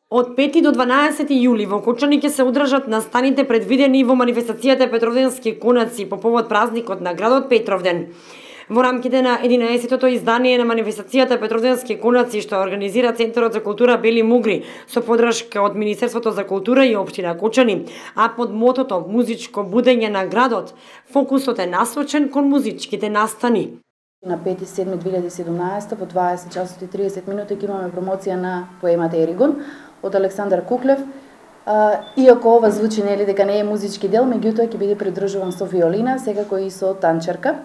Од 5 до 12 јули во Кочани ќе се одржат настаните предвидени во манифестацијата Петровденски конаци по повод празникот на градот Петровден. Во рамките на 11-тото издание на манифестацијата Петровденски конаци што организира Центарот за култура Бели Мугри со поддршка од Министерството за култура и општина Кочани, а под мотото Музичко будење на градот, фокусот е насочен кон музичките настани. На 5.7.2017 во 20 часот и 30 минути ќе имаме промоција на поемата Еригон од Александар Куклев. Иако ова звучи нели дека не е музички дел, меѓутоа ќе биде придржуван со виолина, секако и со танчерка.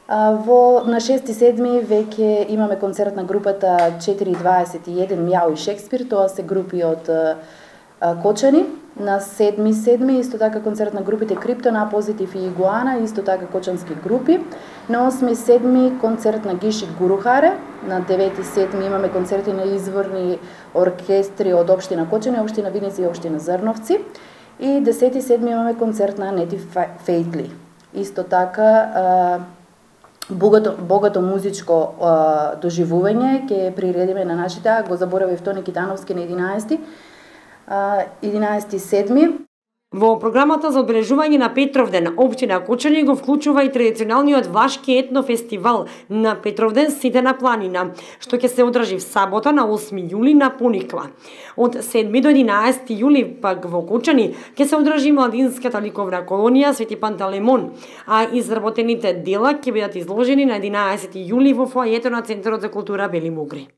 На 6.7. веќе имаме концерт на групата 4.21 Мјау и Шекспир, тоа се групи од Кочани. На 7.7. исто така концерт на групите Криптон, А Позитив и Игуана, исто така кочански групи. На 8.7. концерт на Гишик Гурухаре. На 9.7. имаме концерти на изворни оркестри од општина Кочани, општина Виница и општина Зрновци. И 10.7. имаме концерт на Нети Фейтли. Исто така богато музичко доживување ќе приредиме на нашите, го заборавив Тони Китановски на 11.7. Во програмата за одбележување на Петровден, општина Кочани го вклучува и традиционалниот влашки етнофестивал на Петровден сите на планина, што ќе се одржи в сабота на 8 јули на Пониква. Од 7 до 11 јули пак во Кочани ќе се одржи младинската ликовна колонија Свети Пантелеймон, а изработените дела ќе бидат изложени на 11 јули во фоајето на Центарот за култура Бели Мугри.